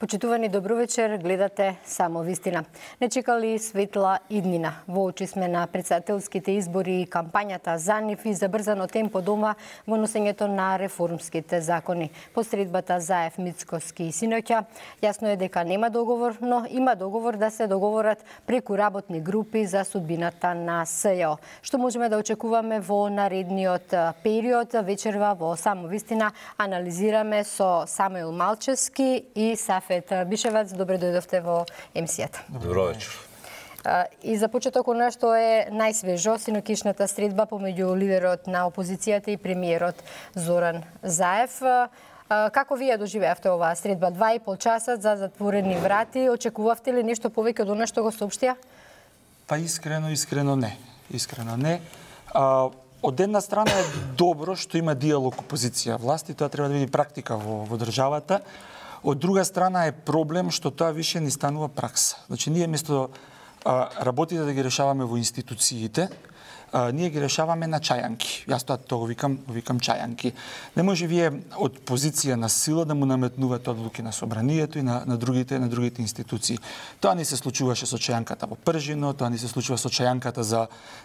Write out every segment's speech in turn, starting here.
Почитувани, добро вечер, гледате Само вистина. Не чекали светла иднина. Во очи сме на председателските избори и кампањата за нив и забрзано темпо дома во носењето на реформските закони. Посредбата Заев, Мицкоски и синоќа, јасно е дека нема договор, но има договор да се договорат преку работни групи за судбината на СЈО. Што можеме да очекуваме во наредниот период? Вечерва во Само вистина анализираме со Самуил Малчевски и Сафет Бишевац. Добре дојдовте во емисијата. Добро вечер. И за почеток она што е најсвежо, синокишната средба помеѓу лидерот на опозицијата и премиерот Зоран Заев. Како вие доживеавте оваа средба? 2,5 часа за затворени врати. Очекувавте ли нешто повеќе од она што го соопштија? Па искрено не. Искрено не. Од една страна е добро што има диалог опозиција власти, тоа треба да биде практика во државата. Од друга страна е проблем што тоа више не станува пракса. Значи ние место работите да ги решаваме во институциите, ние ги решаваме на чајанки. Јас тоа го викам чајанки. Не може вие од позиција на сила да му наметнувате одлуки на собранието и на другите институции. Тоа не се случуваше со чајанката во Пржино, тоа не се случува со чајанката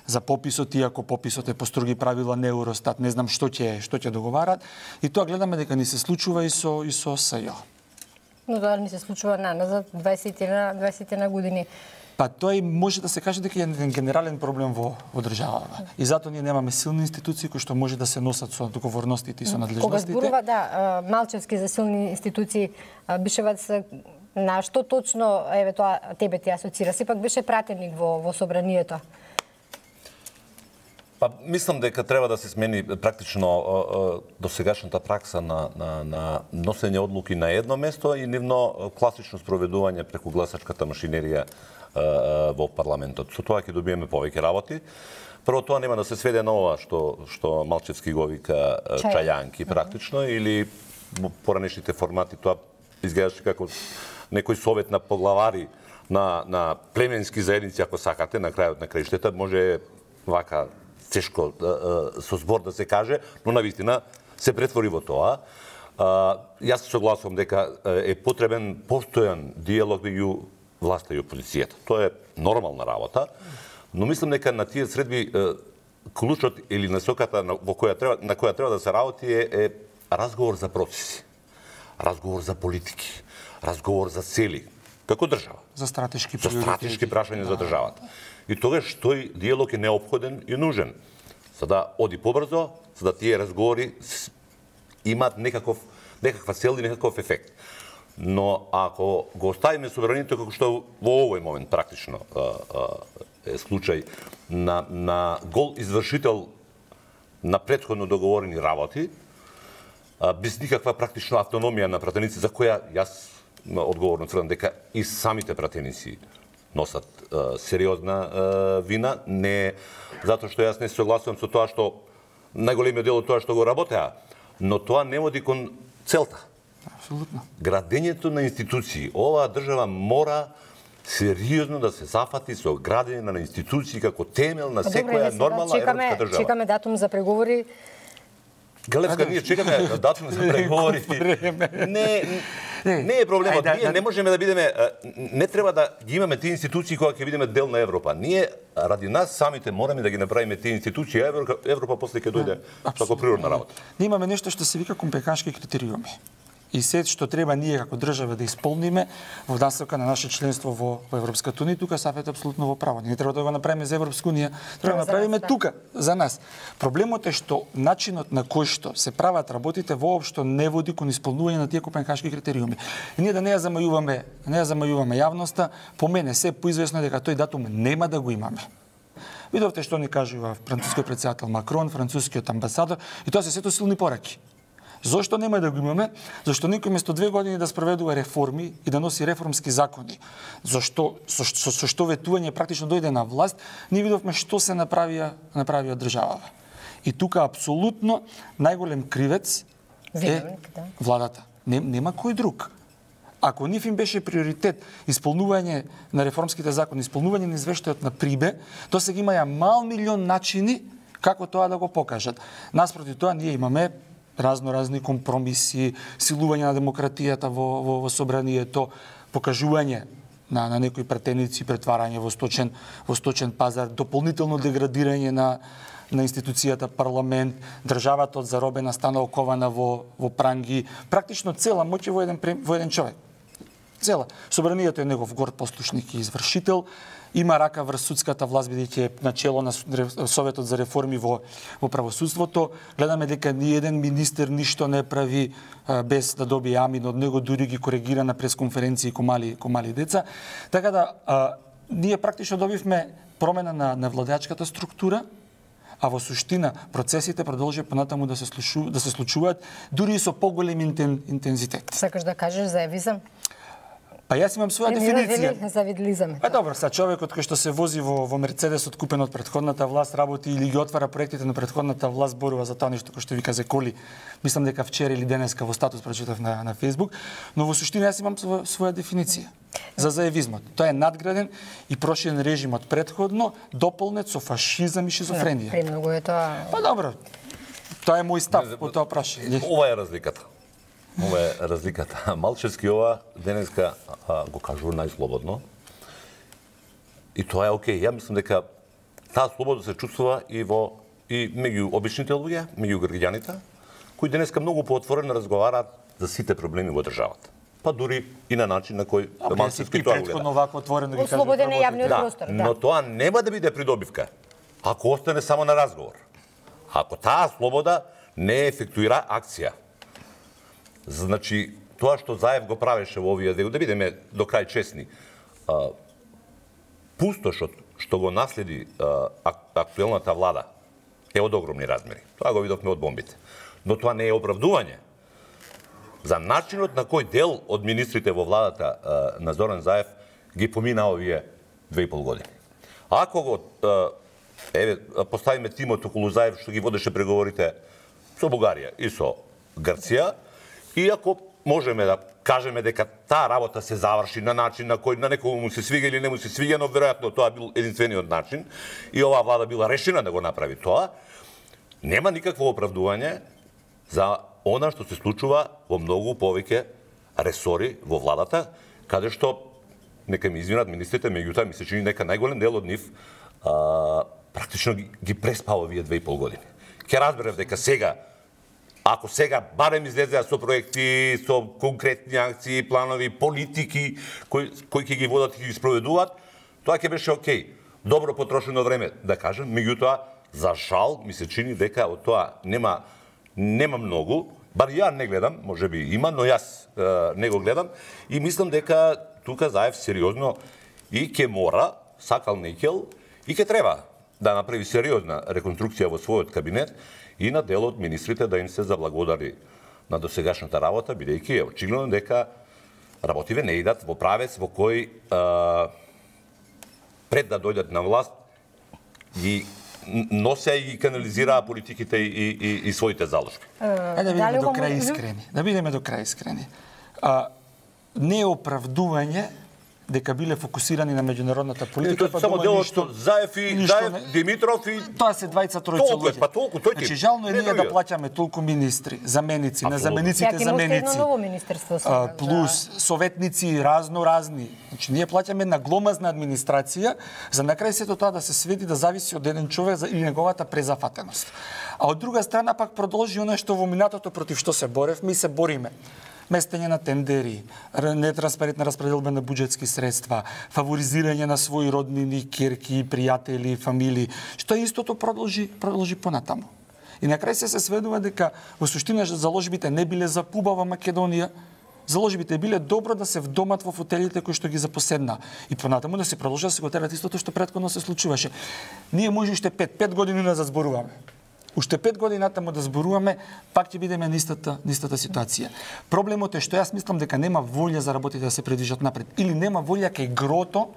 за пописот, иако пописот е по строги правила на Евростат, не знам што ќе договарат. И тоа гледаме дека не се случува и со СЈО. Но тоа не се случува наназад 20 на години. Па тоа и може да се каже дека е еден генерален проблем во државата. И затоа ние немаме силни институции кои што може да се носат со договорностите и со надлежностите. Кога зборува Малчевски за силни институции, Бишевац, на што точно тоа тебе ти асоцира? Сепак беше пратеник во собранието. Па мислам дека треба да се смени практично досегашната пракса на носење одлуки на едно место и нивно класично спроведување преку гласачката машинерија во парламентот. Со тоа ќе добиеме повеќе работи. Прво, тоа нема да се сведе на ова што Малчевски го вика чајанки практично, или во поранешните формати тоа изгледаше како некој совет на поглавари на племенски заедници, ако сакате, на крајот на краиштата, може вака тешко со збор да се каже, но навистина се претвори во тоа. Јас се согласувам дека е потребен постојан диалог меѓу власта и опозицијата. Тоа е нормална работа, но мислам дека на тие средби клучот или насоката на која треба да се работи е разговор за процеси, разговор за политики, разговор за цели, како држава. За стратешки прашања за државата. И тогаш тој диалог е неопходен и нужен, за да оди побрзо, за да тие разговори имаат некаква цел и некаков ефект. Но ако го оставиме собранието како што во овој момент практично е случај на гол извршител на претходно договорени работи, без никаква практично автономија на пратеници, за која јас одговорно тврдам дека и самите пратеници носат сериозна вина, не затоа што јас не се согласувам со тоа што најголемиот дел од тоа што го работеа, но тоа не води кон целта. Апсолутно. Градењето на институции. Оваа држава мора сериозно да се зафати со градење на институции како темел на секоја нормална европска држава. Чекаме датум за преговори. Галевска, ние чекаме датум за преговори. Не е проблемот. Ние не можеме да бидеме, не треба да ги имаме тие институции кога ќе бидеме дел на Европа. Ние ради нас самите мораме да ги направиме тие институции, а Европа после ќе дојде како природна работа. Ние имаме нешто што се вика компенхашки критериуми. И се што треба ние како држава да исполниме во насока на наше членство во Европската унија, тука Сафет апсолутно во право. Ние треба да го направиме за Европска унија, треба да направиме тука за нас. Проблемот е што начинот на кој што се прават работите воопшто не води кон исполнување на тие компенхашки критериуми. И ние да не ја замајуваме јавноста, по мене се поизвестно дека тој датум нема да го имаме. Видовте што ни кажува францускиот претседател Макрон, францускиот амбасадор, и тоа се сето силни пораки. Зошто нема да го имаме? Зашто некој место 2 години да спроведува реформи и да носи реформски закони. Зашто со што ветување практично дојде на власт, ние видовме што се направија државава. И тука апсолутно најголем кривец е владата. Нема кој друг. Ако нив им беше приоритет исполнување на реформските закони, исполнување на извештајот на Прибе, тоа сега имаја мал милион начини како тоа да го покажат. Наспроти тоа ние имаме разни компромиси, силување на демократијата во собранието, покажување на некои претеници, претварање во сточен пазар, дополнително деградирање на институцијата парламент, државата од заробена стана окована во пранги, практично цела моќ во еден човек. Цела. Собранието е негов горд послушник и извршител, има рака врз судската власт, бидејќи е начело на Советот за реформи во правосудството. Гледаме дека ни еден министер ништо не прави без да добие амин од него, дури ги коригира на пресконференции ко мали деца. Така да, ние практично добивме промена на владеачката структура, а во суштина процесите продолжи понатаму да се случуваат, дури и со поголем интензитет. Сакаш да кажеш за евизам? Па јас имам своја дефиниција. Завидлизам. Добро, човекот кој што се вози во Мерцедес купен од претходната власт, работи или ги отвара проектите на претходната власт, борува за тоа нешто кој што вика за коли. Мислам дека вчера или денеска во статус прочитав на Facebook, но во суштина јас имам своја дефиниција за заевизмот. Тоа е надграден и проширен режим од претходно, дополнет со фашизам и шизофренија. Премногу е тоа. Па добро. Тоа е мој став по тоа прашање. Ова е разликата. Ова е разликата. Малчевски ова денеска го кажува најслободно. И тоа е окей. Ја мислам дека таа слобода се чувствува и меѓу обичните луѓе, меѓу граѓаните, кои денеска многу поотворено разговараат за сите проблеми во државата. Па дури и на начин на кој Малчевски тоа гледа. Претходно вако отворено ги кажа. Ослободен е јавниот простор, да. Но тоа нема да биде придобивка ако остане само на разговор. Ако таа слобода не ефектуира акција. Значи, тоа што Заев го правеше во овие дел, да бидеме до крај честни, пустошот што го наследи актуелната влада е од огромни размери. Тоа го видовме од бомбите. Но тоа не е оправдување за начинот на кој дел од министрите во владата на Зоран Заев ги помина овие 2,5 години. Ако го поставиме тимот околу Заев што ги водеше преговорите со Бугарија и со Грција, и ако можеме да кажеме дека таа работа се заврши на начин на кој на некој му се свига или не му се свига, но веројатно тоа бил единствениот начин и оваа влада била решена да го направи тоа, нема никакво оправдување за она што се случува во многу повеќе ресори во владата, каде што, нека ми извинат министрите, меѓутоа ми се чини дека најголем дел од нив практично ги преспава овие 2,5 години. Ке разберев дека сега, ако сега барем излезеа со проекти, со конкретни акции, планови, политики кои ќе ги водат и ги спроведуваат, тоа ќе беше окей. Добро потрошено време, да кажем, меѓутоа, за жал, ми се чини дека од тоа нема многу, бар ја не гледам, можеби има, но јас не го гледам и мислам дека тука Заев сериозно и ќе мора, сакал некел, и ќе треба да направи сериозна реконструкција во својот кабинет и на дел од министрите да им се заблагодари на досегашната работа, бидејќи е очигледно дека работиве не идат во правец во кој пред да дојдат на власт ги нося и ги канализираа политиките и своите заложби. Да бидеме до крај искрени. Да бидеме до крај искрени. Не е оправдување дека биле фокусирани на меѓународната политика, па само делот што Заев и Димитров и тоа се двајца-тројца луѓе. Па толку тој. Значи жално е ние да плаќаме толку министри, заменици, на замениците заменици. Плюс советници разни. Значи ние плаќаме на гломазна администрација, за на крај сето тоа да се сведи да зависи од еден човек и неговата презафатеност. А од друга страна пак продолжи она што во минатото против што се боревме и се бориме. Местење на тендери, нетранспарентна распределба на буџетски средства, фаворизирање на своји роднини, ќерки, пријатели, фамилии, што истото продолжи понатаму. И на крај се сведува дека во суштина заложбите не биле за пубава Македонија, заложбите биле добро да се вдомат во фотелите кои што ги запоседна. И понатаму да се продолжи да се го терат истото што претходно се случуваше. Ние може уште 5 години назад зборуваме. Уште 5 години натаму да зборуваме, пак ќе бидеме на истата ситуација. Проблемот е што јас мислам дека нема волја за работите да се предвижат напред. Или нема волја кај грото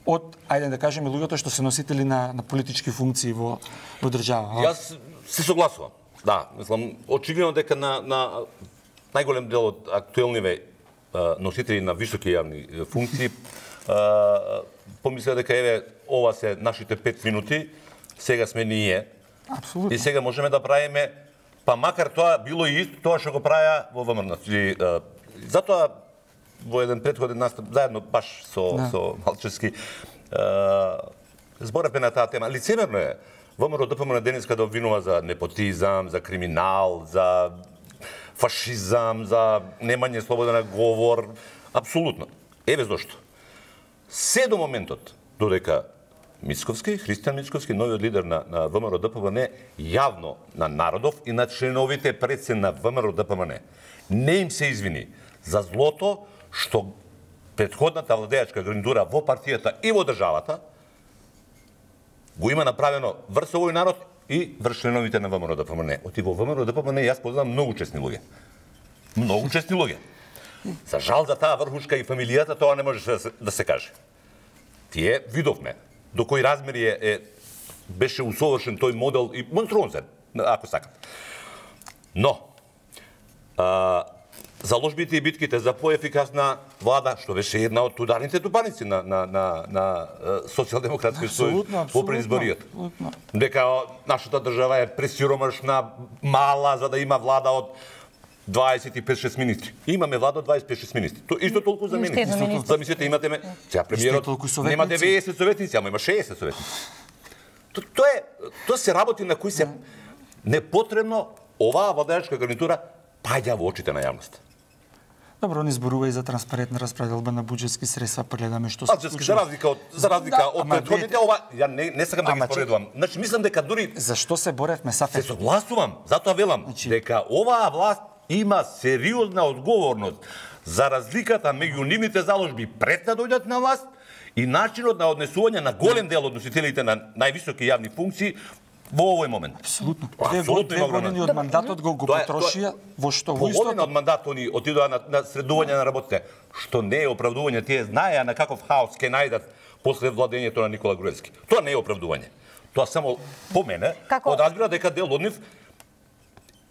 од, ајде да кажеме, луѓето што се носители на политички функции во држава. Јас се согласувам. Да, мислам, очигледно дека на најголем дел од актуелниве носители на високи јавни функции помислеа дека еве ова се нашите 5 минути, сега сме ние. Апсолутно. И сега можеме да правиме Па макар тоа било и исто тоа што го правеа во ВМРО. Затоа во еден претходен настап заедно баш со Малчевски зборевме на таа тема. Лицемерно е ВМРО ДПМН денеска да обвинува за непотизам, за криминал, за фашизам, за немање слобода на говор. Апсолутно. Еве зошто. Се до моментот додека Мицковски, Христијан Мицковски, новиот лидер на ВМРО ДПМН, јавно на народов и на членовите предсе на ВМРО ДПМН не им се извини за злото што претходната владеачка гарнитура во партијата и во државата го има направено врз овој народ и врз членовите на ВМРО ДПМН. Оти во ВМРО ДПМН јас познавам многу честни луѓе. Многу честни луѓе. За жал за таа врхушка и фамилијата тоа не може да се каже. Тие видовме до кои размери беше усовршен тој модел и монструозен, ако сакат. Но заложбите и битките за поефикасна влада, што беше една од ударните тупаници на социјалдемократскиот сојуз во предизборијата. Дека нашата држава е пресиромашна, мала, за да има влада од 25-6 министри. Имаме влада од 25-6 министри. Исто толку за министри. Замислете, имате сега премиерот нема 90 советници, ама има 60 советници. Тоа се работи на кои се непотребно оваа владеачка гарнитура паѓа во очите на јавноста. Добро, не зборува и за транспарентна распределба на буџетски средства, гледаме што се случува. За разлика од претходните, ова ја не сакам да ги споредувам. Значи мислам дека дури зашто се боревме Сафет? Се согласувам, затоа велам дека оваа власт има сериозна одговорност за разликата меѓу нивните заложби пред да дојдат на власт и начинот на однесување на голем дел од носителите на највисоки јавни функции во овој момент. Апсолутно. Две години од мандатот го потрошија во што во истото. Половина од мандатот они отидоа на средување на работите, што не е оправдување, тие знаеа на каков хаос ќе најдат после владењето на Никола Груевски. Тоа не е оправдување. Тоа само по мене подразбира дека дел од нив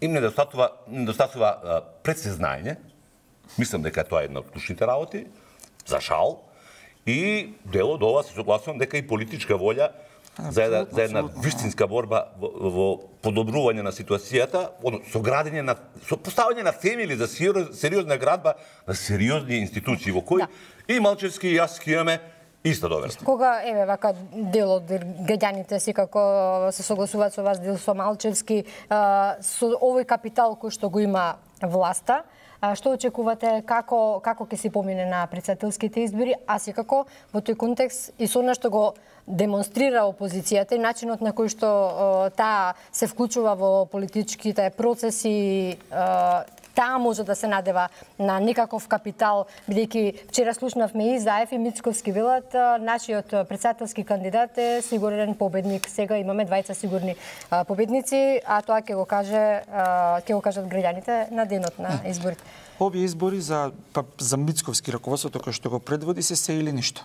им недостатува предсезнање. Мислам дека тоа е една од клучните работи, за жал, и дел од ова се согласувам дека и политичка волја за една вистинска борба во подобрување на ситуацијата, со градење со поставање на темели за сериозна градба на сериозни институции во кои и Малчевски и јас имаме иста доверба. Кога вака дел од граѓаните секако се согласуваат со вас, дел со Малчевски, со овој капитал кој што го има власта, што очекувате, како ќе се помине на претседателските избори, а секако во тој контекст и со она што го демонстрира опозицијата и начинот на кој што таа се вклучува во политичките процеси, таа може да се надева на некаков капитал, бидејќи вчера слушнавме и Заев и Мицковски велат, нашиот претседателски кандидат е сигурен победник. Сега имаме двајца сигурни победници, а тоа ќе го кажат граѓаните на денот на изборите. Овие избори за Мицковски раководството кој што го предводи се или ништо.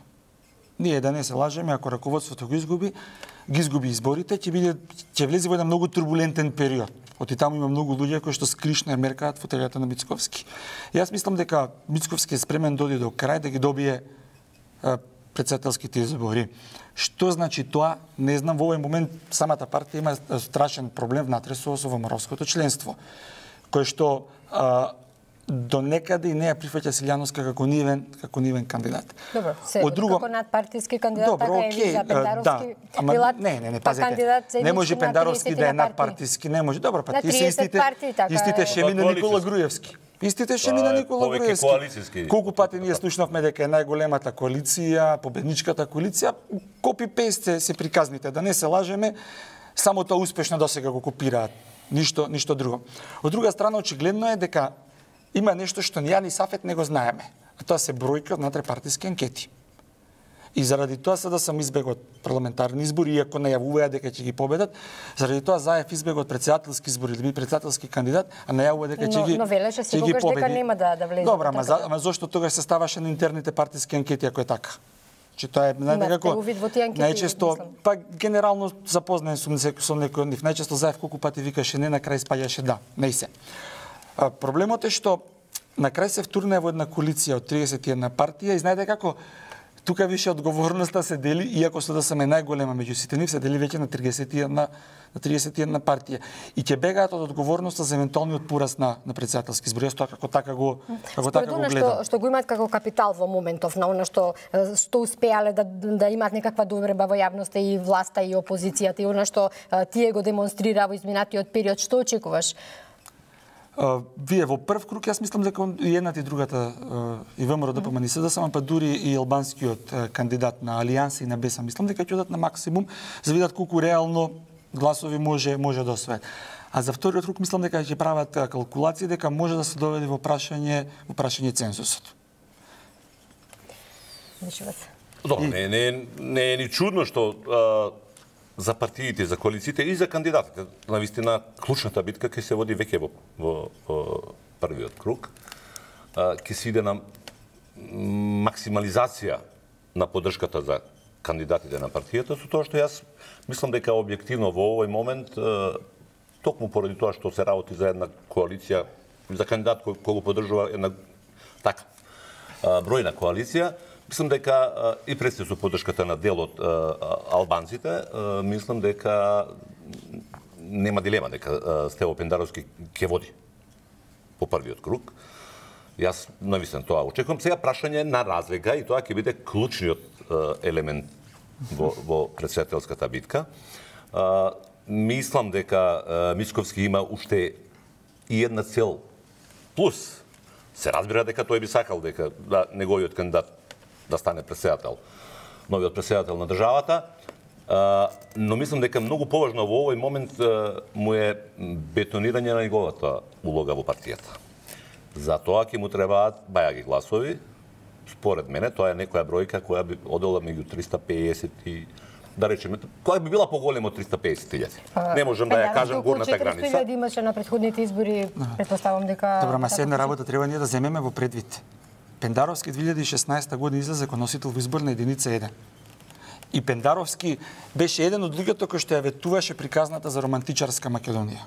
Ние да не се лажеме, ако раководството ги изгуби изборите, ќе влезе во еден многу турбулентен период. Оти таму има многу луѓе кои што скришно меркаат фотелјата на Мицковски. Јас мислам дека Мицковски е спремен да оди до крај да ги добие претседателските избори. Што значи тоа? Не знам, во овој момент самата партија има страшен проблем внатре со ВМРО-ското членство, кој што до некаде и не ја прифаќа Силјановска како нивен кандидат. Добро, како надпартиски кандидат, така и за Пендаровски. Не, пазете. Не може Пендаровски да е надпартиски, не може. Добро, па тие се истите шеми на Никола Груевски. Истите шеми на Никола Груевски. Колку пати ние слушнавме дека е најголемата коалиција, победничката коалиција, копи-пейст се приказните, да не се лажеме, само тоа успешно досега го копираат. Ништо друго. Од друга страна, очигледно е дека има нешто што ни ја ни Сафет не го знаеме. А тоа се бројка од внатрепартиски анкети. И заради тоа се да сам избегот парламентарни избори, иако најавуваат дека ќе ги победат, заради тоа Заев избегот претседателски избори, да биде претседателски кандидат, а најавува дека ќе ги победи. Но велеше секогаш дека нема да влезе. Добро, ама зошто тогаш се ставаше на интерните партиски анкети ако е така? Че тоа е некако најчесто, па генерално запознаен сум со некој од нив, најчесто Заев колку пати викаше не, на крај спаѓаше да, не се. Проблемот е што на крај се втурна во една коалиција од 31 партија и знаете како тука више одговорноста се дели, иако СДСМ е најголема меѓу сите нив, се дели веќе на 31 партија. И ќе бегаат од одговорноста за евентуалниот пораст на претседателски избори. Јас тоа како така го гледам. Што го имаат како капитал во моментов, на она што успеале да имаат некаква доверба во јавноста и власта и опозицијата и она што тие го демонстрира во изминатиот период, што очекуваш? Вие во прв круг, јас мислам дека и едната и другата, и ВМРО ДПМН и СДСМ, па дури и албанскиот кандидат на Алијанса и на Беса, мислам дека ќе одат на максимум за видат колку реално гласови може да освојат. А за вториот круг мислам дека ќе прават калкулации дека може да се доведе во прашање цензусот. Добро, не е ни чудно што за партиите, за коалициите и за кандидатите. Навистина, клучната битка ќе се води веќе во првиот круг. Ќе се иде на максимализација на поддршката за кандидатите на партијата, со тоа што јас мислам дека објективно во овој момент, токму поради тоа што се работи за една коалиција, за кандидат кој го поддржува една така бројна коалиција, мислам дека и пред со поддршката на дел од албанците, мислам дека нема дилема дека Стево Пендаровски ќе води по првиот круг. Јас навистина тоа очекувам. Сега прашање на разлика и тоа ќе биде клучниот елемент во претседателската битка. Мислам дека Мицковски има уште и една цел плюс. Се разбира дека тој би сакал дека неговиот кандидат да стане председател, новиот председател на државата, но мислам дека многу поважно во овој момент му е бетонирање на неговата улога во партијата. За тоа ќе му требаат бајаги гласови. Според мене, тоа е некоја бројка која би одела меѓу 350 и да речеме, која би била поголема од 350.000. Не можам да ја кажам горната граница. 400.000 имаше на претходните избори, претпоставам дека... Добро, ма се една работа треба ние да земеме во предвид. Пендаровски 2016 година излезе како носител во изборна единица 1. И Пендаровски беше еден од луѓето кој што ја ветуваше приказната за романтичарска Македонија.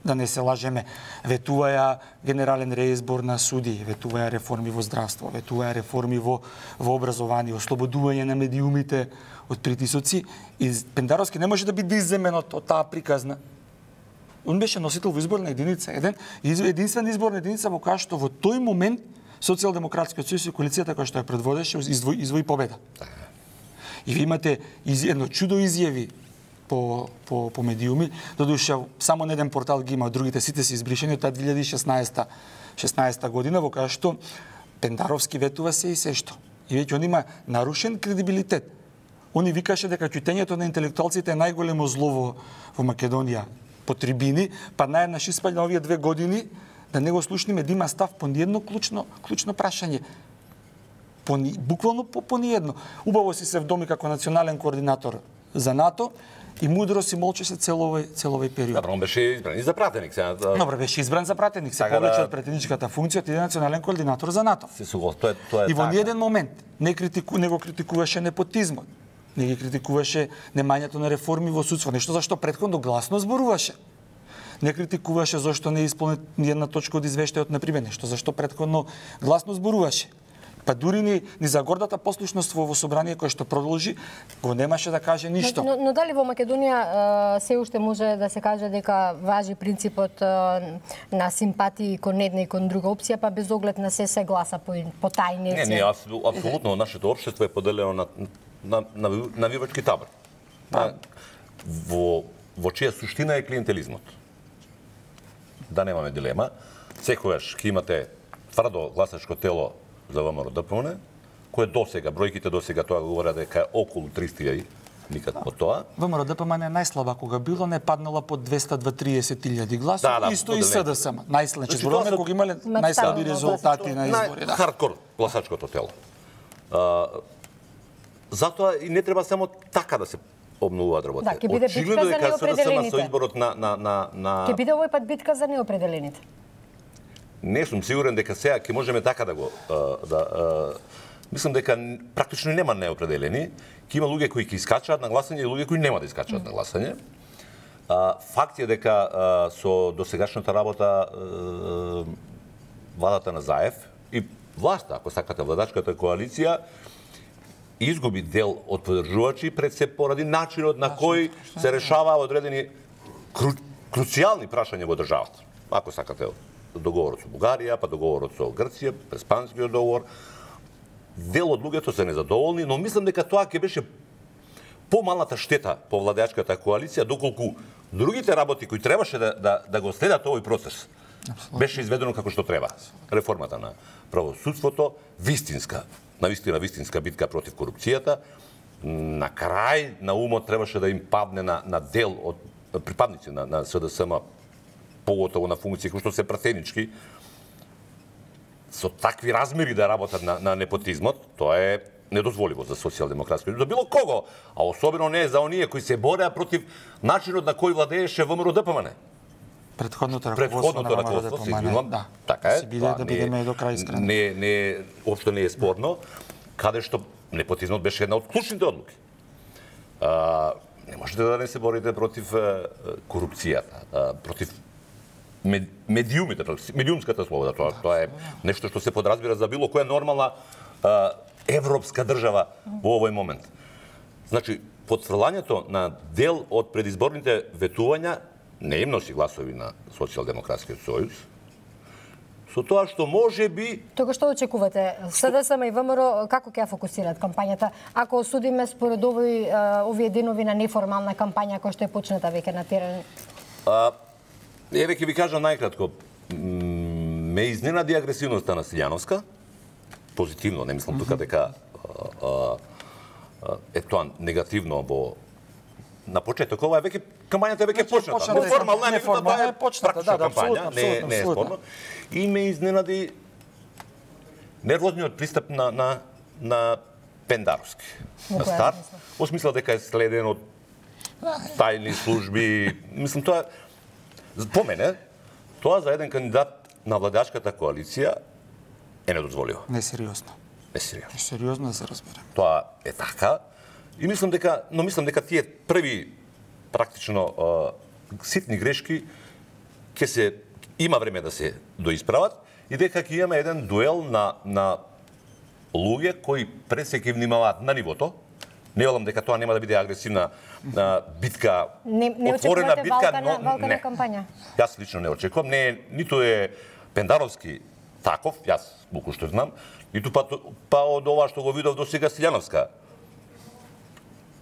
Да не се лажеме, ветуваја генерален реизбор на суди, ветуваја реформи во здравство, ветуваја реформи во образование, ослободување на медиумите од притисоци. И Пендаровски не може да биде изземен од таа приказна. Он беше носител во изборна единица 1, единствена изборна единица во која што во тој момент Социјалдемократскиот сојуз и коалицијата која што ја предводеше извои победа. И ви имате едно чудо изјави по медиуми, додуше само на еден портал ги има, другите сите се избришени од таа 2016 година во која што Пендаровски ветува се и се што. И веќе он има нарушен кредибилитет. Они викаше дека ќутењето на интелектуалците е најголемо зло во Македонија по трибини, па наједнаш испаѓа овие 2 години да не го слушниме да има став по ниедно клучно прашање. Буквално по ниедно. Убаво си се вдоми како национален координатор за НАТО и мудро си молчеше цел овој период. Добро, он беше избран и за пратеник. Добро, беше избран за пратеник. Се повеќе од пратеничката функција, ти е национален координатор за НАТО. И во ниеден момент не го критикуваше непотизмот. Не ги критикуваше немањето на реформи во судство, нешто за што претходно гласно зборуваше. Не критикуваше зашто не исполни ни една точка од извештајот, например, нешто за што претходно гласно зборуваше. Па дури ни за гордата послушност во собрание кое што продолжи, го немаше да каже ништо. Но дали во Македонија се уште може да се каже дека важи принципот на симпатии кон една и кон друга опција, па без оглед на се гласа по тајни? Не, апсолутно нашето општество е поделено на навивачки табор. Во чија суштина е клиентелизмот. Да немаме дилема. Секогаш ќе имате тврдо гласачко тело за ВМРО ДПМН, кое досега, бројките досега тоа говорат дека е околу 300.000, никад по тоа. ВМРО ДПМН е најслаба кога било, не паднала под 230.000 гласови, исто и СДСМ. Најслабо, зборуваме кога имале најслаби резултати на избори. Хардкор гласачкото тело. Затоа и не треба само така да се обновуваат работите. Ќе биде битка за неопределените. Со изборот Ќе биде овој пат битка за неопределените. Не сум сигурен дека сега ќе можеме така да го мислам дека практично нема неопределени, ќе има луѓе кои ќе искачаат на гласање и луѓе кои нема да искачаат на гласање. Факт е дека со досегашната работа владата на Заев и власта, ако сакате владачката коалиција, изгуби дел од поддржувачи пред се поради начинот на кој се решава одредени круцијални прашања во државата. Ако сакате договорот со Бугарија, па договорот со Грција, Преспанскиот договор, дел од луѓето се незадоволни, но мислам дека тоа ќе беше помалата штета по владеачката коалиција, доколку другите работи кои требаше да го следат овој процес, беше изведено како што треба. Реформата на правосудството, навистина вистинска битка против корупцијата, на крај на умот требаше да им падне на дел од припадници на СДСМ, поготово на функции кои што се пратенички, со такви размери да работат на непотизмот, тоа е недозволиво за социјалдемократски, за било кого, а особено не за оние кои се бореа против начинот на кој владееше ВМРО ДПМН. Предходното раководство на ВМРО ДПМН, да. Така е. Да бидеме до крај искрени. Не, општо не е спорно, каде што непотизмот беше една од клучните одлуки. Не можете да не се борите против корупцијата, против медиумите, медиумската слобода. Тоа е нешто што се подразбира за било која нормална европска држава во овој момент. Значи, потфрлањето на дел од предизборните ветувања не им носи гласови на Социјалдемократскиот сојуз, со тоа што може би... Тога што очекувате? СДСМ и ВМРО како ќе ја фокусираат кампањата? Ако осудиме според овие денови на неформална кампања која што е почната веќе на терен? Еве ќе ви кажам најкратко. Ме изненади агресивноста на Силјановска. Позитивно, не мислам тука дека е тоа негативно на почеток. Ова е веќе кампањата е веќе почната. Неформална е почната, кампања, не е спорно. И ме изненади нервозниот пристап на Пендаровски. На старт, во смисла дека е следен од тајни служби. Мислам, тоа по мене, тоа за еден кандидат на владеачката коалиција е недозволиво. Несериозно. Несериозно да се разбере. Тоа е така. И мислам дека тие први практично ситни грешки има време да се доисправат и дека ќе имаме еден дуел на луѓе кои пред се ќе внимаваат на нивото. Не велам дека тоа нема да биде агресивна битка, отворена битка, но не. Кампања. Јас лично не очекувам. Не, ниту е Пендаровски таков, јас буку што знам, ниту па од ова што го видов до сега Силјановска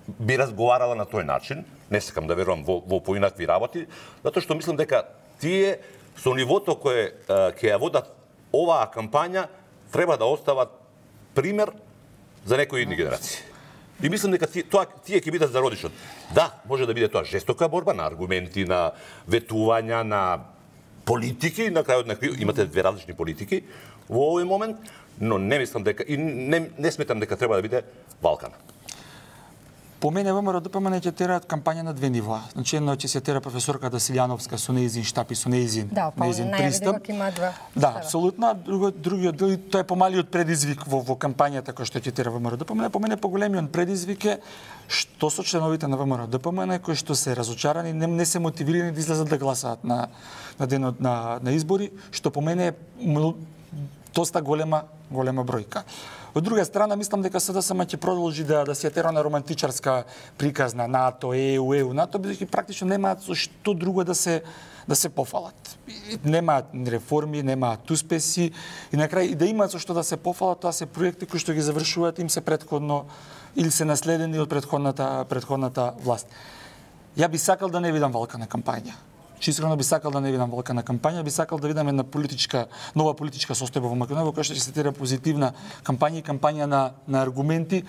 би разговарала на тој начин. Не сакам да верувам во поинакви работи, затоа што мислам дека тие со нивото кое ќе ја водат оваа кампања треба да остават пример за некои идни генерации. И мислам дека тие ќе бидат зародишот. Да, може да биде тоа жестока борба на аргументи, на ветувања, на политики, на крајот на имате две различни политики во овој момент, но не мислам дека и не сметам дека треба да биде валкана. По мене ВМРО ДПМН ќе тераат кампања на две нива. Значи едно ќе се тера професорката Силјановска со нејзин штаб и со нејзин пристап. Да, апсолутно. Другиот дел, тоа е помалиот предизвик во кампањата која што ќе тера ВМРО ДПМН. По мене поголемиот предизвик е што со членовите на ВМРО ДПМН кои што се разочарани, не се мотивирани да излезат да гласаат на денот на избори, што по мене е доста голема бројка. Од друга страна, мислам дека СДСМ ќе продолжи да се тера на романтичарска приказ на НАТО, ЕУ, НАТО, бидејќи практично немаат со што друго да се пофалат. Немаат реформи, немаат успеси и на крај и да имаат со што да се пофалат, тоа се проекти кои што ги завршуваат им се претходно или се наследени од претходната власт. Ја би сакал да не видам валкана кампања. Искрено би сакал да не видам валкана кампања, би сакал да видам една нова политичка состојба во Македонија, во која што ќе се тера позитивна кампања и кампања на аргументи,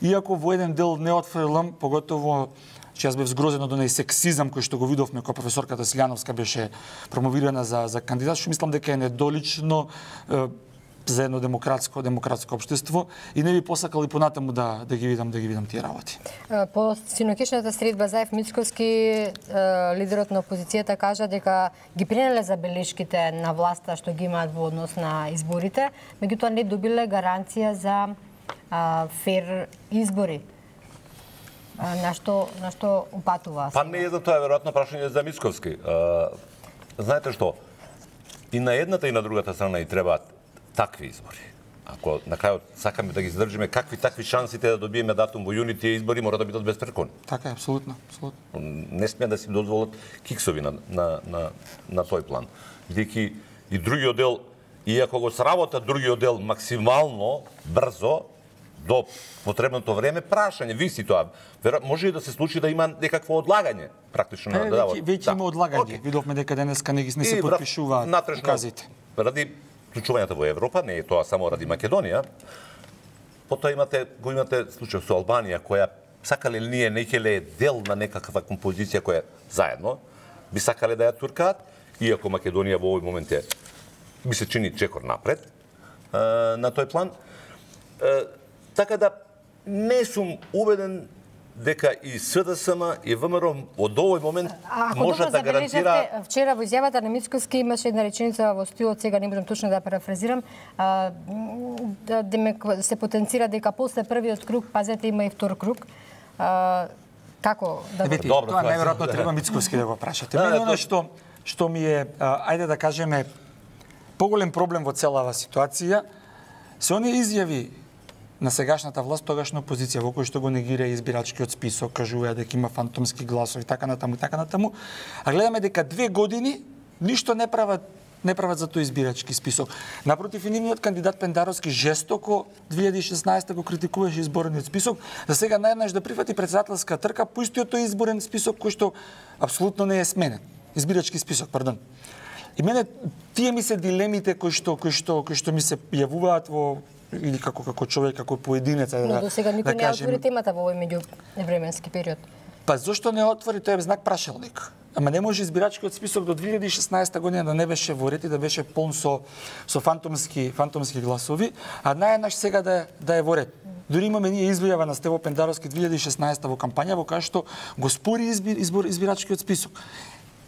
иако во еден дел не отфрлам, поготово че јас бев згрозен од оној сексизам кој што го видовме кога професорката Силјановска беше промовирана за кандидат, што мислам дека е недолично за едно демократско општество и не би посакал и понатаму да ги видам тие работи. По синокишната средба Заев Мицковски, лидерот на опозицијата кажа дека ги принеле забелешките на власта што ги имаат во однос на изборите, меѓутоа не добиле гаранција за фер избори. На што упатува? Па не е за тоа, веројатно прашање за Мицковски. Знаете што, и на едната и на другата страна и требаат такви избори. Ако на крајот сакаме да ги задржиме, какви такви шансите да добиеме датум во јуни, тие избори мора да бидат безпрекони. Така е, апсолутно. Не смеат да си дозволат киксови на тој план. Бидејќи и другиот дел, иако го сработа другиот дел максимално брзо, до потребното време, прашање, виси тоа. Може и да се случи да има некакво одлагање, практично на работа. Веќе има одлагање. Видовме дека денеска не се потпишуваат указите. Ради вклучувањето во Европа, не е тоа само ради Македонија. Потоа го имате случај со Албанија, која сакале или ние некеле дел на некаква композиција која заедно би сакале да ја туркаат, иако Македонија во овој момент би се чини чекор напред на тој план. Така да не сум убеден дека и СДСМ и ВМРО од овој момент може да гарантира. Вчера во изјавата на Мицковски имаше една реченица во стилот, сега не можам точно да парафразирам, демек се потенцира дека после првиот круг, пазете, има и втор круг. Како да го... Тоа најверојатно треба Мицковски да го прашате. Мене оно што ми е, ајде да кажеме, поголем проблем во целава ситуација, се оние изјави на сегашната власт, тогашна опозиција, во кој што го негира избирачкиот список, кажува дека има фантомски гласови, така натаму, а гледаме дека 2 години ништо не прават за тој избирачки список. Напротив, и нивниот кандидат Пендаровски жестоко 2016 го критикуваше изборниот список, за сега наједнаш да прифати председателска трка по истиот тој изборен список кој што апсолутно не е сменен. Избирачки список, пардон. И мене тие ми се дилемите кои што ми се јавуваат во или како човек, како поединец, но до сега никој не отвори темата во овој меѓувременски период. Па зошто не отвори, тоа е знак прашалник. Ама не може избирачкиот список до 2016 година да не беше во ред и да беше полн со фантомски гласови, а наједнаш сега да е во ред. Дури имаме ние изјава на Стево Пендаровски 2016 во кампања во која што го спори избирачкиот список.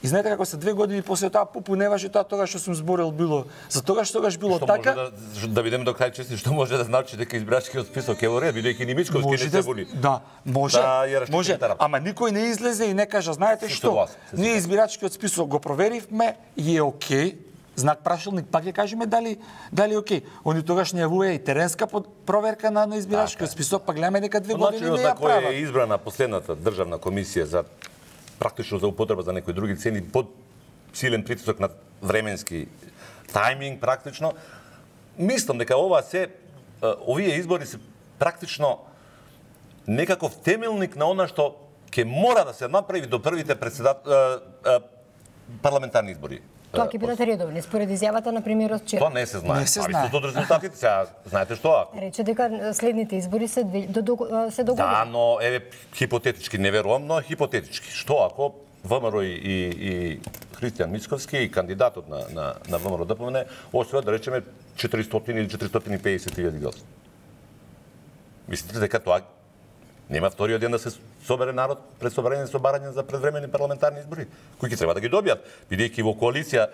И знаете како се 2 години после тоа попуневаше тоа што сум зборил било. За тогаш било што така. Може да видиме до крај чести што може да значи дека избирачкиот список е во ред, бидејќи ни Мицковски не се буни. Да, може. Ама никој не излезе и не кажа, знаете што? Ние избирачкиот список го проверивме и е окей. Знак прашалник, пак ќе кажеме дали е окей. Они тогаш не јавува и теренска проверка на избирачкиот список, па гледаме дека 2 години не ја прават. Начинот на кој е избрана последната државна комисија за практично за употреба за некои други цени, под силен притисок на временски тајминг практично. Мислам дека овие избори се практично некаков темелник на она што ќе мора да се направи до првите парламентарни избори. Тоа ќе бидат редовни, според изјавата на премиерот вчера. Тоа не се знае. Зависи од резултатите. Сега знаете што? Рече дека следните избори се догодини. Да, но хипотетички, не верувам, но хипотетички. Што ако ВМРО и Христијан Мицковски и кандидатот на ВМРО ДПМН освојат, да речеме, 400 или 450 000 гласа? Мислите дека тоа нема вториот ден да се собере народ пред собрање со барање за предвремени парламентарни избори, кои ќе треба да ги добијат, бидејќи во коалиција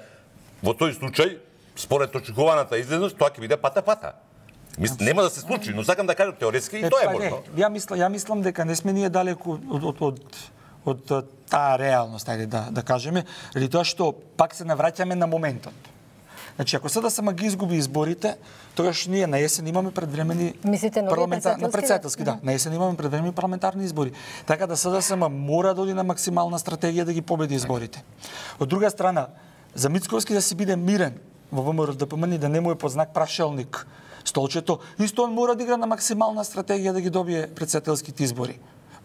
во тој случај според очекуваната излезност тоа ќе биде пата. Нема да се случи, но сакам да кажам теоретски и тоа е можно. Ја мислам дека не сме ние далеку од таа реалност, ајде да кажеме, или тоа што пак се навраќаме на моментот. Значи, ако СДСМ ги изгуби изборите, тогаш ние на есен имаме предвремени председателски, да, на есен имаме предвремени парламентарни избори. Така да СДСМ мора да оди на максимална стратегија да ги победи изборите. Од друга страна, за Мицковски да си биде мирен во ВМРО ДПМН и да не му е под знак прашалник столчето, исто он мора да игра на максимална стратегија да ги добие председателските избори.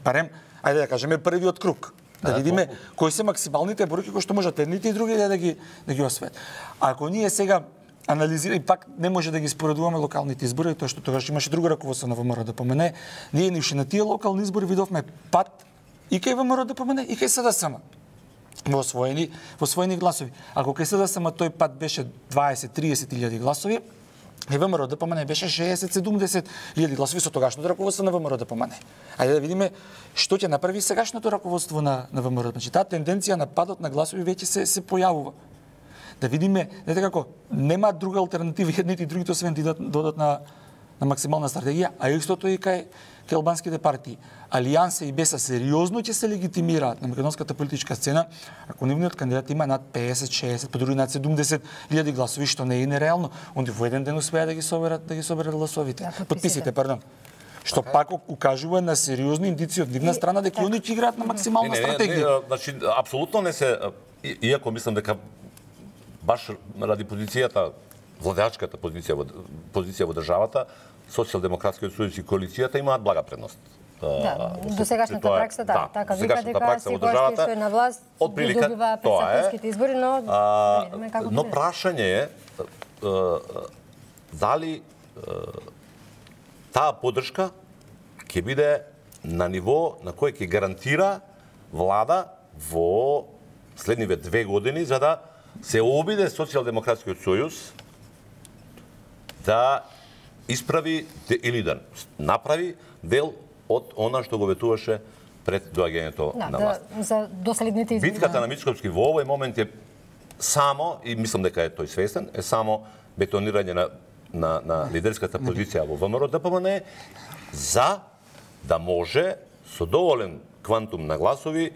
Барем, ајде да кажеме првиот круг. Да видиме кои се максималните бројки кои што можат едните и другите да ги освојат. Ако ние сега анализираме, пак не може да ги споредуваме локалните избори, тоа што тогаш имаше друго раководство на ВМРО ДПМН, ние ништо на тие локални избори видовме пат и кај ВМРО ДПМН и кај СДСМ во освоени гласови. Ако кај СДСМ тој пат беше 20-30 илјади гласови, и ВМРО ДПМН беше 60-70 илјади гласови со тогашното раководство на ВМРО ДПМН. Ајде да видиме што ќе направи сегашното раководство на ВМРО. Значи, таа тенденција на падот на гласови веќе се појавува. Да видиме, знаете како, нема друга алтернатива едните и другите освен да додат на максимална стратегија, а истото и кај кај албанските партии. Алијанса и БЕСА сериозно ќе се легитимираат на македонската политичка сцена ако нивниот кандидат има над 50, 60, по други над 70.000 гласови, што не е нереално. Онди во еден ден успеа да ги соберат гласовите. Подписите, пардон. Што пак укажува на сериозни индици од нивна страна дека они ќе играат на максимална стратегија. Значи, апсолутно не се, иако мислам дека баш ради позицијата, владеачката позиција во државата, Социјалдемократскиот сојуз и коалицијата имаат блага предност. Досегашната пракса, така вика дека секој што е на власт добива претседателските избори, но но прашање е дали таа поддршка ќе биде на ниво на кој ќе гарантира влада во следниве 2 години за да се обиде Социјалдемократскиот сојуз да исправи или да направи дел од она што го ветуваше пред доаѓањето на власт. За доследните избори. Битката на Мицковски во овој момент е само, и мислам дека е тој свестен, е само бетонирање на лидерската позиција во ВМРО-ДПМН за да може со доволен квантум на гласови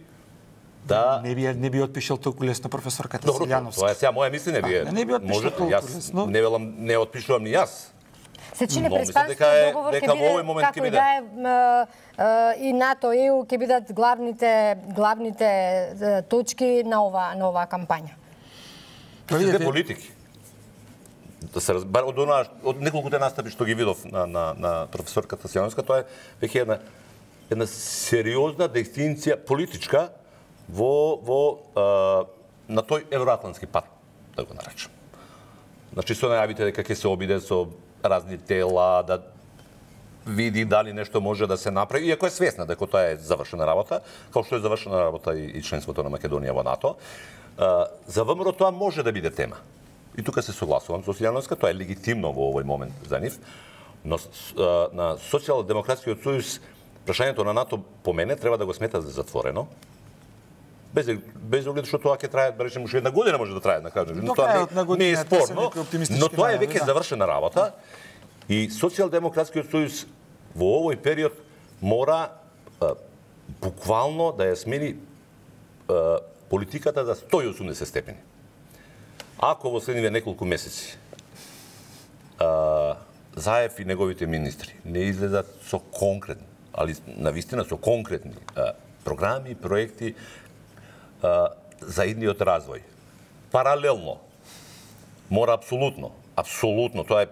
да не би отпишал толку лесно професорката Силјановска. Тоа е сега моја мислење, вие. Не би отпишал толку лесно. Не велам, не отпишувам ни јас. Се чини преспанскиот договор ќе биде како и да е и НАТО и ЕУ ќе бидат главните точки на оваа кампања. Сите политики. Да се разбере од неколкуте настапи што ги видов на професорката Силјановска, тоа е веќе една сериозна дестинција политичка на тој евроатлантски пат, да го наречам. Значи, со најавите дека ќе се обиде со разни тела, да види дали нешто може да се направи, иако е свесна дека тоа е завршена работа, како што е завршена работа и членството на Македонија во НАТО. За ВМРО тоа може да биде тема. И тука се согласувам со Силјановска, тоа е легитимно во овој момент за нив, но на Социјалдемократскиот сојуз прашањето на НАТО по мене треба да го смета за затворено. Без оглед што тоа ќе трае, да речеме, уште една година може да трае, да кажем. Тоа не е спорно, но тоа е веќе завршена работа и Социјалдемократскиот сојуз во овој период мора буквално да ја смени политиката за 180 степени. Ако во следниве неколку месеци Заев и неговите министри не излезат со конкретни, али навистина со конкретни програми, проекти за идниот развој. Паралелно, мора апсолутно, тоа е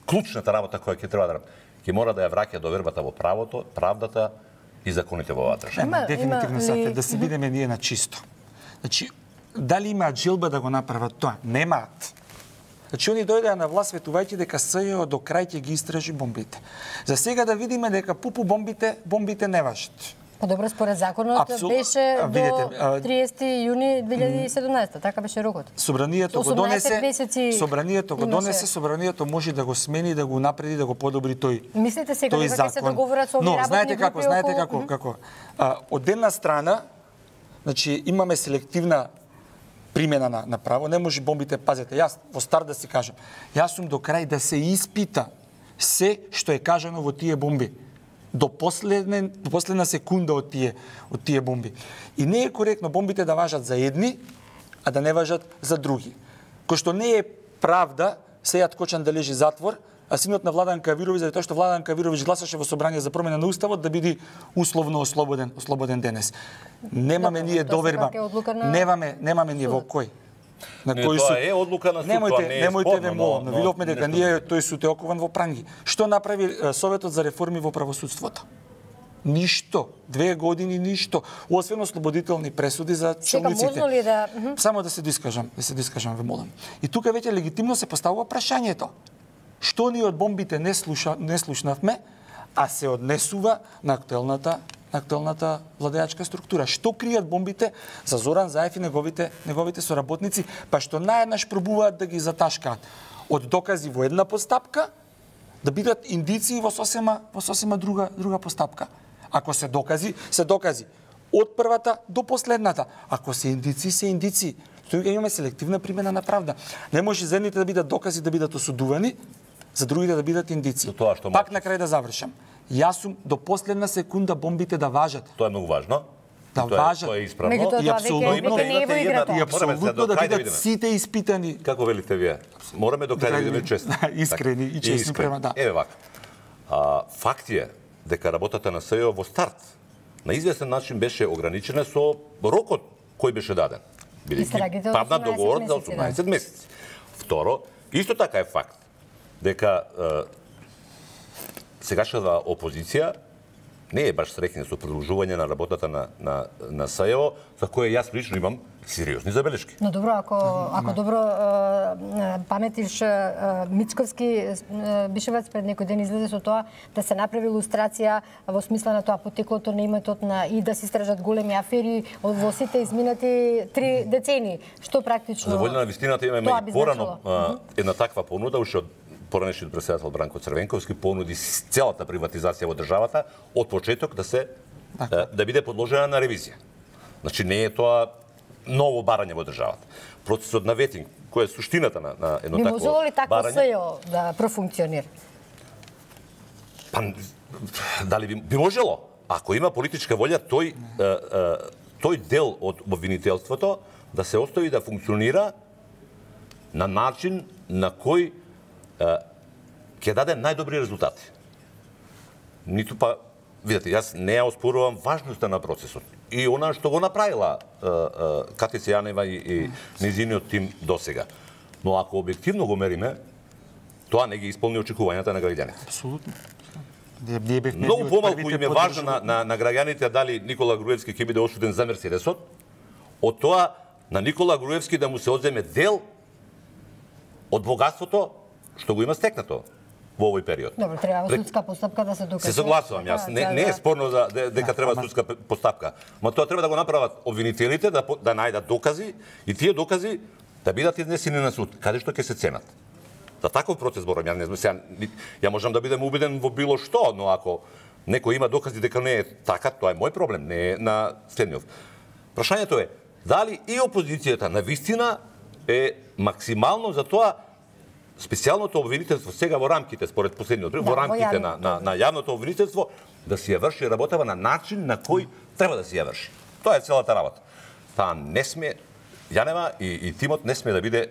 клучната работа која ќе треба да ќе мора да ја враќа довербата во правото, правдата и законите во оваа држава. Дефинитивно сафе, да се бидеме ние на чисто. Значи, дали имаат желба да го направат тоа? Немаат. Значи, они дојдеа на власт ветувајќи дека СЈО до крај ќе ги истражи бомбите. За сега да видиме дека пупу бомбите не важат. Добро, според законот беше до 30 јуни 2017, така беше рокот. Собранието го донесе, собранието може да го смени, да го напреди, да го подобри тој. Мислите сега дека ќе се договорат со овие работни групи? Знаете како. Од една страна, значи имаме селективна примена на право, не може бомбите, пазете, јас во старт да си кажам, јас сум до крај да се испита се што е кажано во тие бомби. До последна секунда од тие бомби. И не е коректно бомбите да важат за едни, а да не важат за други. Кој што не е правда, Сејат Кочан да лежи затвор, а синот на Владан Кавировиќ, заради тоа што Владан Кавировиќ гласаше во собрание за промена на уставот да биде условно ослободен денес. Немаме ние доверба. Немаме ние во кој? На кој суд? Тоа е одлука на суд, тоа не е спорно. Немојте ве молам, видовме дека ние тој суд е окован во пранги. Што направи Советот за реформи во правосудството? Ништо. 2 години ништо. Освен ослободителни пресуди за челниците. Сега можно ли да... Само да се дискажам ве молам. И тука веќе легитимно се поставува прашањето. Што ние од бомбите не слушнавме, а се однесува на актуелната владеачка структура. Што кријат бомбите за Зоран Заев и неговите соработници, па што наеднаш пробуваат да ги заташкаат од докази во една постапка да бидат индиции во сосема друга постапка. Ако се докази од првата до последната. Ако се индиции, Тоа имаме селективна примена на правда. Не може за едните да бидат докази да бидат осудувани, за другите да бидат индици. Тоа што Пак на крај да завршам. Јас сум до последна секунда бомбите да важат. Тоа е многу важно. Да важат. Тоа е исправно. Меѓутоа, И тоа апсолутно веќе не е во играта. И апсолутно да бидат сите испитани. Како велите вие? Мораме до крај да бидеме честни. Искрени и честни према да. Еве вака. Факт е дека работата на СЈО во старт на известен начин беше ограничена со рокот кој беше даден. Истрагите од Падна 18 договор за месеци, 18 месеци. Второ, исто така е факт дека сегашната опозиција не е баш среќна со продолжување на работата на СЈО, за која јас лично имам сериозни забелешки. Но добро, ако добро паметиш, Мицковски Бишевец пред некој ден излезе со тоа да се направи илустрација во смисла на тоа потеклото на иметот и да се истражат големи афери во сите изминати 3 децени, што практично... За волја на вистината имаме и порано една таква понуда, уште од поранешниот претседател Бранко Црвенковски понуди целата приватизација во државата од почеток да биде подложена на ревизија. Значи не е тоа ново барање во државата. Процесот на ветинг, која е суштината на едно такво барање... Би можело ли такво СЈО да профункционира? Па, дали би можело? Ако има политичка волја, тој дел од обвинителството да се остави да функционира на начин на кој ќе даде најдобри резултати. Ниту па, видите, јас не ја оспорувам важноста на процесот. И она што го направила Катица Јанева и низиниот тим досега. Но ако објективно го мериме, тоа не ги исполни очекувањата на граѓаните. Апсолутно. Многу помалку им е важно на граѓаните дали Никола Груевски ќе биде осуден за Мерцедесот, од тоа на Никола Груевски да му се одземе дел од богатството што го има стекнато во овој период. Добро, треба судска постапка да се докаже. Се согласувам јас. Не е спорно дека треба судска постапка. Ма тоа треба да го направат обвинителите, да најдат докази и тие докази да бидат изнесени на суд, каде што ќе се ценат. За таков процес зборам, ја можам да бидам убеден во било што, но ако некој има докази дека не е така, тоа е мој проблем, не е на Стенјов. Прашањето е, дали и опозицијата на вистина е максимално за тоа специјалното обвинителство сега во рамките, според последниот во рамките на јавното обвинителство, да си ја врши работава на начин на кој треба да си ја врши. Тоа е целата работа. Таа не сме, Јанева и тимот не сме да биде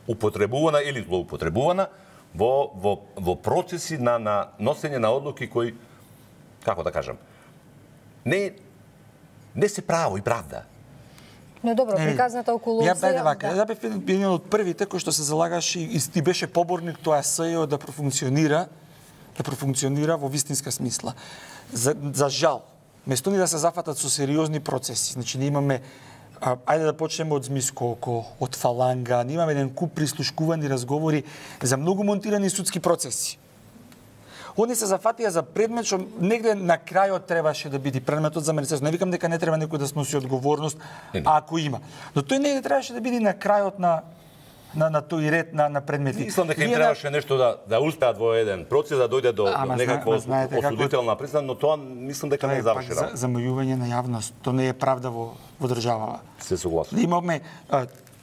употребувана или злоупотребувана во процеси на носење на одлуки кои, како да кажам, не се право и правда. Но добро, приказната околу СЈО... Ја бев еден од првите кој што се залагаше и беше поборник тоа СЈО да профункционира во вистинска смисла. За жал, место ни да се зафатат со сериозни процеси, значи не имаме ајде да почнеме од Змискоко, од Фаланга, не имаме еден куп прислушкувани разговори за многу монтирани судски процеси. Они се зафатија за предмет што негде на крајот требаше да биде предметот за Мерцедес. Не викам дека не треба некој да сноси одговорност, ако има. Но тој негде требаше да биде на крајот на тој ред на предмети. Мислам дека им требаше нешто да успеат во еден процес, да дојде до некаква осудителна присуда, но тоа мислам дека не е завршено. Замајување на јавност, тоа не е правда во државава. Се согласувам. Имаме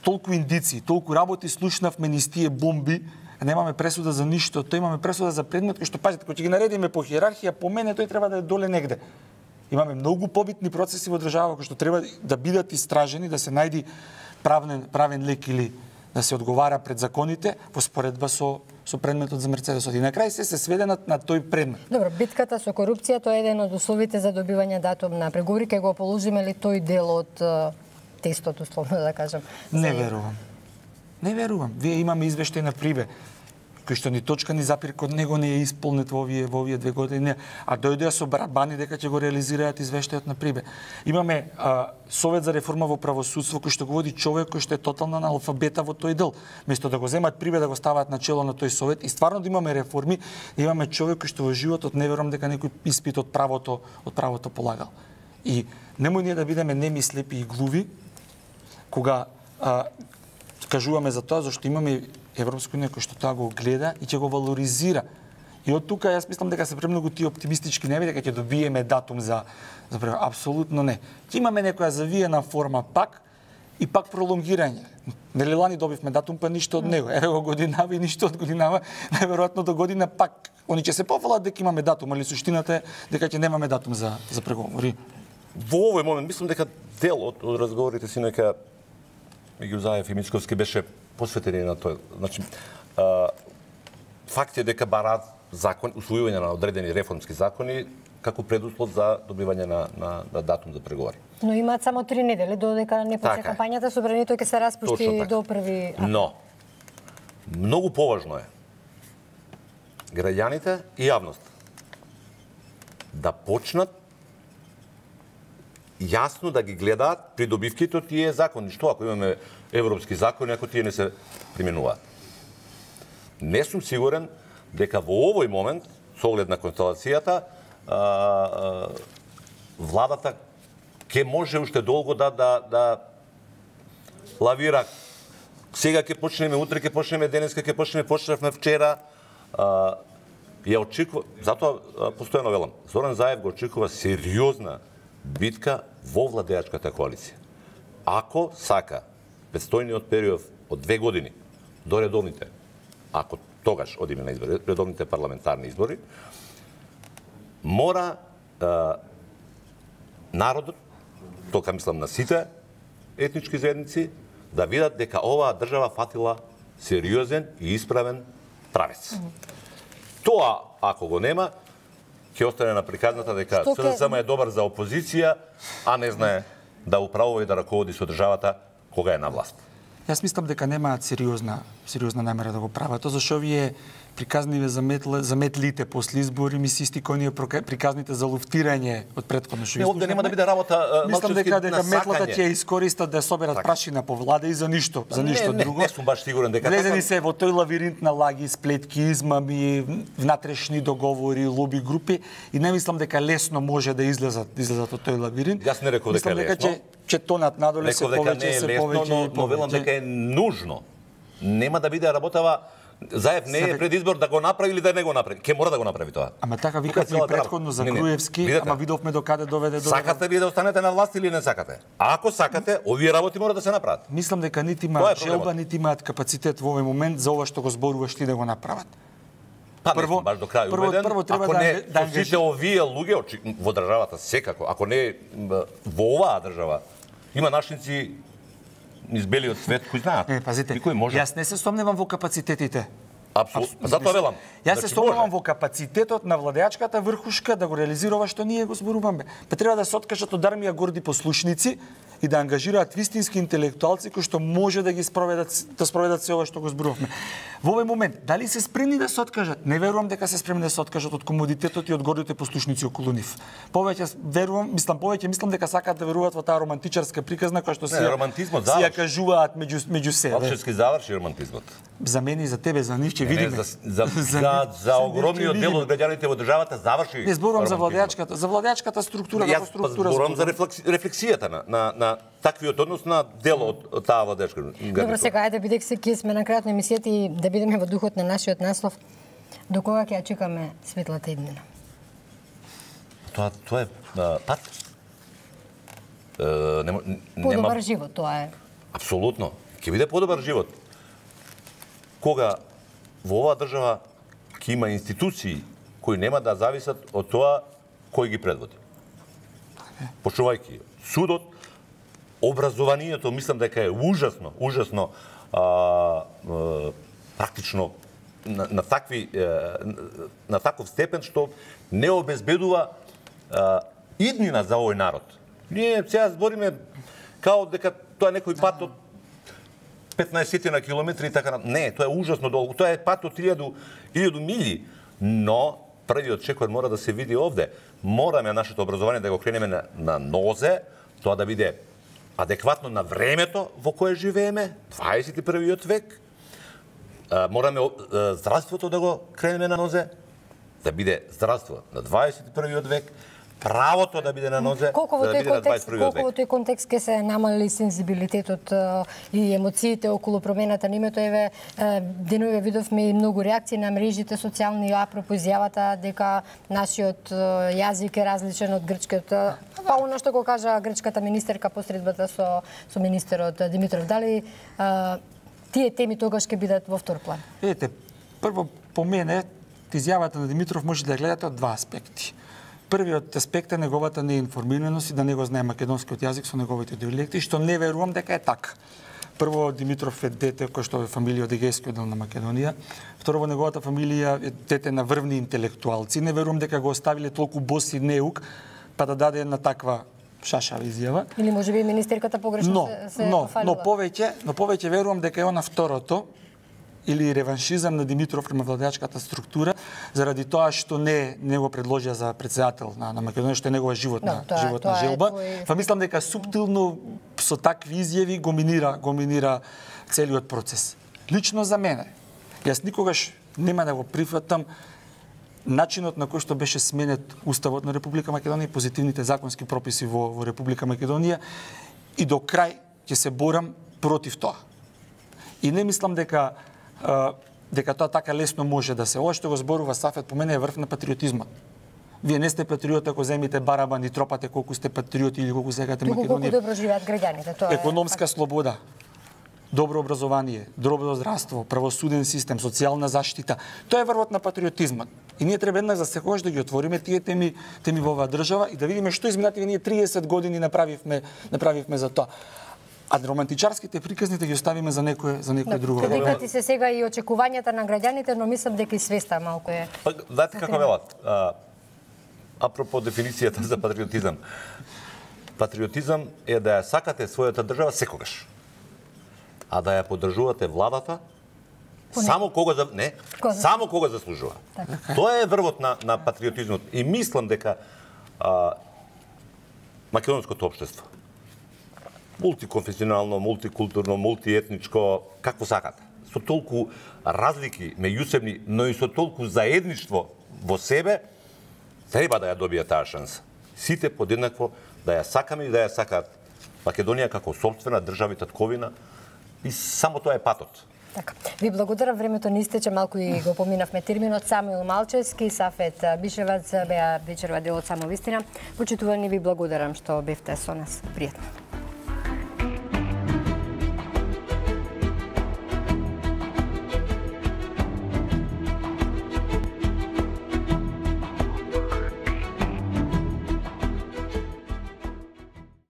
толку индици, толку работи слушнавме низ тие бомби, немаме пресуда за ништо, тој имаме пресуда за предмет кој што пазите, кој ќе ги наредиме по хиерархија, по мене тој треба да е доле негде. Имаме многу побитни процеси во држава кои што треба да бидат истражени, да се најди правен лек или да се одговара пред законите во споредба со предметот за Мерцедесот. И на крај се сведе на тој предмет. Добро, битката со корупција тоа е еден од условите за добивање датум на преговори, ке го положиме ли тој дел од тестот, условно да кажам? Не верувам. Не верувам. Вие имаме извештај на Прибе, кој што ни точка ни запир код него не е исполнет во овие 2 години, а дојдеа со барабани дека ќе го реализираат извештајот на Прибе. Имаме Совет за реформа во правосудство кој што го води човек кој што е тотална аналфабета во тој дел. Место да го земат Прибе да го стават на чело на тој совет и стварно да имаме реформи, да имаме човек кој што во животот не верувам дека некој испит од правото полагал. И немој ние да бидеме неми, слепи и глуви кога кажуваме за тоа зашто имаме Европска унија кој што тоа го гледа и ќе го валоризира. И од тука јас мислам дека се премногу ти оптимистички не дека ќе добиеме датум за апсолутно не. Ќе имаме некоја завиена форма пак и пак пролонгирање. Нели лани добивме датум, па ништо од него. Еве го годинава и ништо од годинава. Најверојатно до година пак они ќе се пофалат дека имаме датум, али суштината е дека ќе немаме датум за преговори. Во овој момент мислам дека дел од разговорите синоќа меѓу Заев и Мицковски беше посветени на тоа. Значи, факт е дека бараат закон, усвојување на одредени реформски закони како предуслов за добивање на датум за преговори. Но имаат само 3 недели додека не почне кампањата, собранието ќе се распушти до 1 април. Но многу поважно е граѓаните и јавност да почнат јасно да ги гледаат придобивките од тие закони. Што ако имаме европски закони, ако тие не се применуваат? Не сум сигурен дека во овој момент, со оглед на констелацијата, владата ќе може уште долго да лавира. Сега ќе почнеме, утре ќе почнеме, денеска ќе почнеме, почнавме вчера. Ја очекува, затоа постојано велам, Зоран Заев го очекува сериозна битка во владеачката коалиција. Ако сака предстојниот период од 2 години до редовните, ако тогаш одиме на избори, редовните парламентарни избори, мора народот, тока мислам на сите етнички заедници, да видат дека оваа држава фатила сериозен и исправен правец. Тоа, ако го нема, ќе остане на приказната дека СДСМ е добар за опозиција, а не знае да управува и да раководи со државата кога е на власт. Јас мислам дека немаат сериозна намера да го прават. Тоа зашто вие приказниве заметлите после избори ми се исти кои ние приказните за луфтирање од претходно што овде нема да биде работа мислам дека метлата ќе искористат да соберат прашина по влада и за ништо друго. Не сум баш сигурен дека влезени се во тој лавиринт на лаги, сплетки, измами, внатрешни договори, лоби групи и не мислам дека лесно може да излезат од тој лавиринт. Јас не реков дека е лесно. Ќе тонат надоле се повеќе, но велам дека е нужно. Нема да биде работава. Заев не е пред избор да го направи или да не го направи. Ке мора да го направи тоа. Ама така викавме и претходно за Груевски, ама видовме докаде доведе до. Сакате ли да останете на власт или не сакате? А ако сакате, овие работи мора да се направат. Мислам дека нити имаат желба, нити имаат капацитет во овој момент за ова што го зборуваш ти да го направат. Прво, баш до крај убеден. Прво треба ако не сите овие луѓе во државата секако, ако не во оваа држава има нашници низ белиот свет кои знаат. Пазите, јас не се сомневам во капацитетите. Апсолутно. Затоа велам. Јас се сомневам во капацитетот на владеачката врхушка да го реализира што ние го зборуваме. Па треба да се откажат од армија горди послушници и да ангажираат вистински интелектуалци кои што може да ги спроведат се ова што го зборувавме. Во овој момент, дали се спремни да се откажат? Не верувам дека се спремни да се откажат од комодитетот и од гордите послушници околу нив. Повеќе мислам дека сакаат да веруваат во таа романтичарска приказна која што си ја кажуваат меѓу себе. Општески заврши романтизмот. За мене и за тебе, за нив ќе видиме. За огромниот дел од граѓаните во државата заврши. Не зборувам за владеачката структура, како структура. Зборувам за рефлексијата на таквиот однос на дел од таа владеачка. Добро, сега ајде бидејќи се ќе сме на крајот на емисијата и да бидеме во духот на нашиот наслов. До кога ќе ја чекаме светлата иднина? Тоа е пат. Подобар живот, тоа е. Апсолутно. Ќе биде подобар живот. Кога во оваа држава ќе има институции кои нема да зависат од тоа кој ги предводи. Почувајќи судот, образованието, мислам дека е ужасно практично на таков степен што не обезбедува иднина за овој народ. Ние сега збориме као дека тоа е некој пат од 15 на километри и така. Не, тоа е ужасно долго. Тоа е пат од 1000 мили, но првиот чекор мора да се види овде. Мораме нашето образование да го кренеме на нозе, тоа да биде адекватно на времето во кое живееме, 21. век. Мораме здравството да го кренеме на нозе, да биде здравство на 21. век. правото да биде на нозе, Колку во да биде на 21 колку во век. тој контекст ке се намали сензибилитетот и емоциите околу промената на името? Еве, денове видовме и многу реакции на мрежите социјални апропо изјавата дека нашиот јазик е различен од грчкиот. Па оно што го кажа грчката министерка по средбата со министерот Димитров. Дали тие теми тогаш ќе бидат во втор план? Видите, прво по мене изјавата на Димитров може да ја гледате од два аспекти. Првиот аспект е неговата неинформираност и да не го знае македонскиот јазик со неговите диалекти, што не верувам дека е така. Прво, Димитров е дете кој што е фамилија од егејскиот дел на Македонија. Второ, во неговата фамилија е дете на врвни интелектуалци. Не верувам дека го оставиле толку боси неук, па да даде една таква шашава изјава. Или можеби министерката погрешно се пофалила? Но повеќе верувам дека е она второто, или реваншизам на Димитров према владеачката структура, заради тоа што не го предложија за претседател на Македонија, што е негова животна желба. Па мислам дека суптилно со такви изјави го минира целиот процес. Лично за мене, јас никогаш нема да го прифатам начинот на кој што беше сменет Уставот на Република Македонија и позитивните законски прописи во Република Македонија, и до крај ќе се борам против тоа. И не мислам дека тоа така лесно може да се. Ова што го зборува Сафет по мене е врв на патриотизмот. Вие не сте патриот ако земите барабан и тропате колку сте патриоти или колку сакате Македонија. Колку добро живеат граѓаните, тоа е. Економска слобода, добро образование, добро здравство, правосуден систем, социјална заштита. Тоа е врвот на патриотизмот. И ние треба еднаш за секогаш да ги отвориме тие теми во оваа држава и да видиме што изминативе ние 30 години направивме за тоа. А романтичарските приказни да ги оставиме за некој друго. Предикати се сега и очекувањата на граѓаните, но мислам дека и свеста малку е. Знаете како велат? Апропо дефиницијата за патриотизам. Патриотизам е да ја сакате својата држава секогаш. А да ја поддржувате владата само кога заслужува. Тоа е врвот на патриотизмот. И мислам дека македонското општество мултиконфесионално, мултикултурно, мултиетничко, какво сакате. Со толку разлики меѓусебни, но и со толку заедништво во себе, треба да ја добија таа шанса. Сите подеднакво да ја сакаме и да ја сакаат Македонија како сопствена држава и татковина, и само тоа е патот. Така. Ви благодарам, времето ни истече, малку и го поминавме терминот. Самуил Малчевски, Сафет Бишевац беа вечерва дел од Само вистина. Почитувани, ви благодарам што бевте со нас. Пријатно.